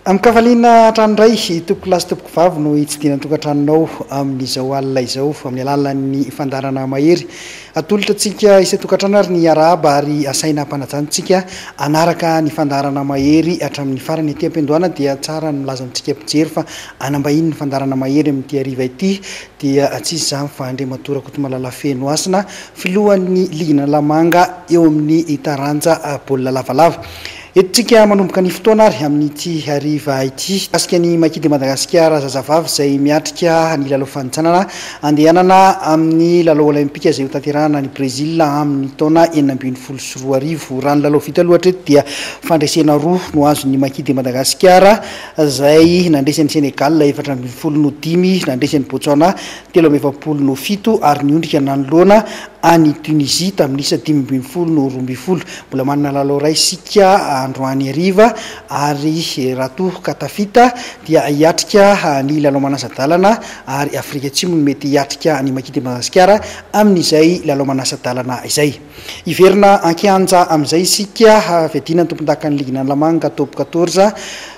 Amin-kafaliana hatrany indray, tompokolahy sy tompokovavy no hitsidihana ny tokantranonao amin'izao alina izao amin'ny alalan'ny fandaharana Mahery. Atolotra antsika isan-tokantrano ary ny arahaba ary asaina ampanajana antsika hanaraka ny fandaharana Mahery hatramin'ny farany. Aty am-piandohana dia tsara ny milaza amintsika mpijery fa hanambahiny ny fandaharana Mahery amin'ity hariva ity dia tsy iza izany fa Andriamatoa Rakotomalala Fenohasina, filohan'ny ligin'Analamanga eo amin'ny taranja baolina lavalava. Entintsika manomboka ny fotoana ary amin'ity hariva ity. Mikasika ny Maki de Madagasikara zazavavy izay miatrika ny lalao fanintsanana andehanana amin'ny lalao olaimpika izay hotanterahana any Brezila amin'ny taona 2016. Raha ny lalao vita aloha hatreto dia fandresena roa no azon'ny Maki de Madagasikara izay nandresy an'i Senegal 14 no dimy, nandresy an'i Botswana 43 no fito ary niondrika nanoloana an'i Tunisie tamin'ny isa 15 no 12. Mbola manana lalao iray isika androany hariva ary raha toa ka tafita dia hiatrika ny lalao manasa-dalana ary Afrika Atsimo no mety hiatrika an'i Maki de Madagasikara amin'izay lalao manasa-dalana izay. Hiverina an-kianja amin'izay isika fiadiana ny tompondakan'ny ligin'Analamanga Top quatorze.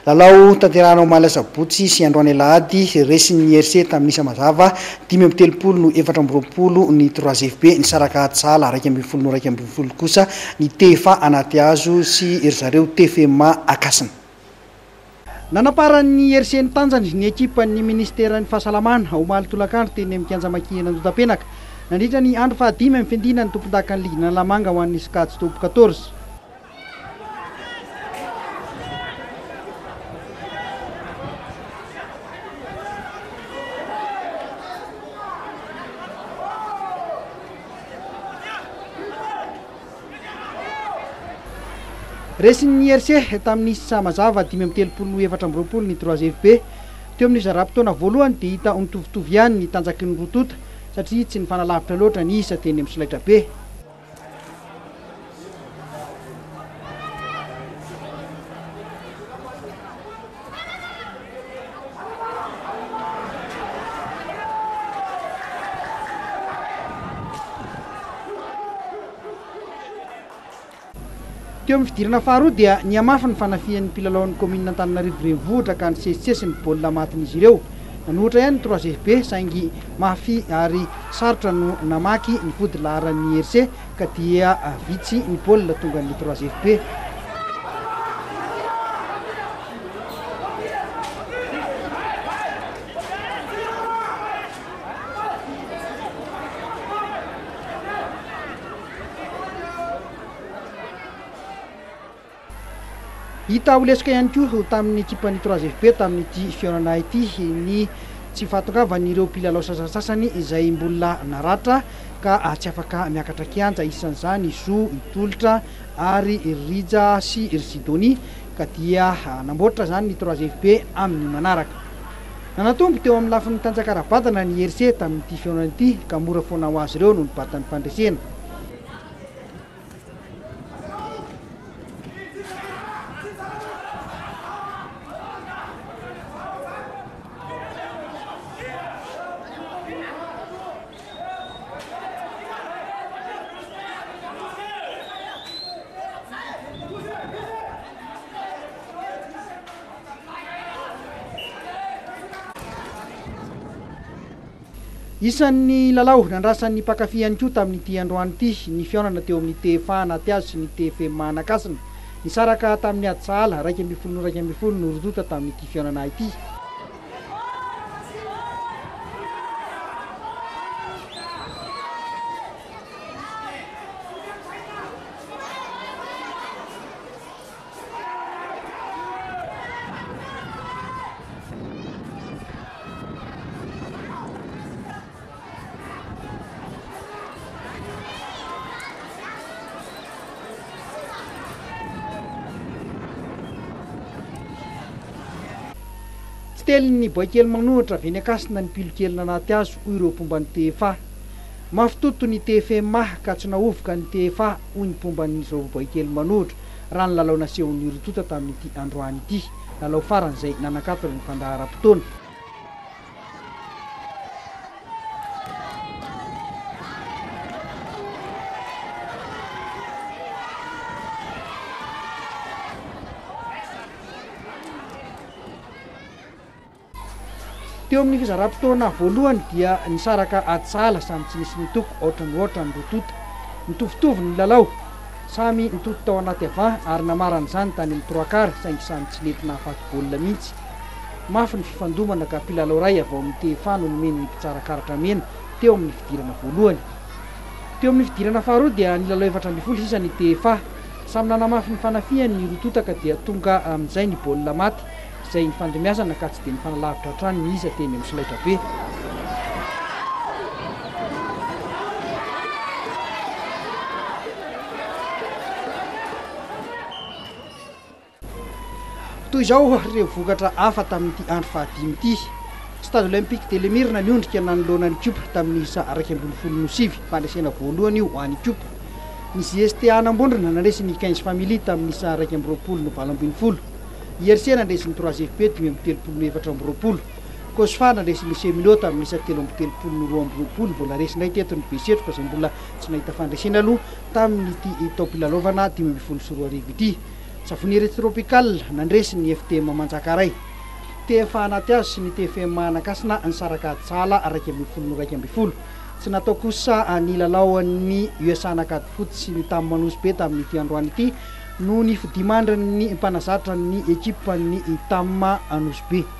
Lalao tanterahina omaly asabotsy sy androany alahady, resin'ny RC tamin'ny isa mazava 35 no 24 ny Trois FB, nisaraka ady sahala 11 no 11 kosa ny TFA Anatihazo sy ry zareo TFMA Ankasina. Nanamparan'ny RC ny tanjany ny ekipan'ny minisiteran'ny fahasalamana omaly tolakandro teny amin'ny kianja Maki eny Andotapenaka nandritra ny andro fahadimy amin'ny fiandiana ny tompondakan'ny ligin'Analamanga ho an'ny sokajy Top quatorze. Resin'ny IRC tamin'ny isa mazava 35 no 24 ny Trois FB. Teo amin'ny zaram-potoana voalohany dia hita ho nitovitovy ihany ny tanjaky ny roa tonta satria tsy nifanalavitra loatra ny isa teny amin'ny solaitrabe. Teo amin'ny fidirana faharoa dia nihamafy ny fanafihan'ny mpilalaon'ny kaominina Antananarivo Renivohitra ka nisesisesy ny baolina matin'izy ireo. Nanohitra ihany ny Trois FB saingy mafy ary sarotra no namaky ny vody laharan'ny IRC ka dia vitsy ny baolina tongan'ny Trois FB. Hita ho lesoka ihany koa tamin'ny ekipan'ny Trois FB tamin'ity fihaonana ity ny tsy fahatongavan'ireo mpilalao sasantsasany izay mbola naratra ka tsy afaka miakatra kianja, isan'izany i Zo, i Tolotra ary ry Rija sy ry Sidonie ka dia hanamboatra izany ny Trois FB amin'ny manaraka. Nanatombo teo amin'ny lafiny tanjaka ara-batana ny IRC tamin'ity fihaonana ity ka mora foana ho azy ireo no nibata ny fandresena. Isan'ny lalao nandrasan'ny mpankafy ihany koa tamin'ity androany ity ny fihaonana teo amin'ny TFA Anatihazo sy ny TFM Anakasina. Nisaraka tamin'ny ady sahala, 11 no 11 no roa tonta tamin'ity fihaonana ity. Tsy telin'ny boaikely manohitra avy eny Ankasina ny pilokely nanaty azy, hoy ireo mpomba ny TFA. Mafy toto ny TFMA ka tsy nahovoka ny TFA, hoy ny mpomba an'izao boaikely manohitra, raha ny lalao nasehon'ny roa tonta tamin'ity androany ity, lalao farany izay nanakatona ny fandaharam-potoana. Teo amin'ny fizaram-potoana voalohany dia nisaraka ady sahala samy tsy nisy nitoko aotra no aotra ny roa tonta. Nitovitovy ny lalao. Samy nitoto tao anaty avant ary namarana izany tany amin'ny trois quarts saingy samy tsy nety nahafaty baolina mihitsy. Mafy ny fifandomana ka mpilalao iray avy ao amin'ny TFA no nomen'ny mpitsara karatra mena teo amin'ny fidirana voalohany. Teo amin'ny fidirana faharoa dia nilalao 14 sisa ny TFA. Samy nanamafy ny fanafihany ny roa tonta ka dia tonga amin'izay ny baolina maty izay nifandimbiasana ka tsy dia nifanalavitra hatrany ny isa teny amin'ny solaitrabe. Toy izao ireo vokatra hafa tamin'ity andro fahadimy ity. Stade Olympique de l'Emyrne niondrika nanoloana ny Ikopa tamin'ny isa 11 no 9, fandresena voalohany io ho an'ny Ikopa. Ny JSTA Anambondrona nandresy ny Quinze Family tamin'ny isa 21 no 18. IRC nandresy ny Trois FP 35 no 24. Cosfa nandresy ny Cheminot tamin'ny isa 33 no 22. Mbola resy indray teto ny Besetroka izay mbola tsy nahita fandresena aloha tamin'ity taom-pilalaovana 2015 ity. Savonnerie Tropical nandresy ny FTM Manjakaray. TFA Anatihazo sy ny TFM Anankasina nisaraka ady sahala 11 no 11. Tsy natao kosa ny lalaon'ny USA Ankadifotsy sy ny Tam Nosy Be tamin'ity androany ity noho ny fodiamandrin'ny mpanazatra ny ekipan'ny Tam Nosy Be.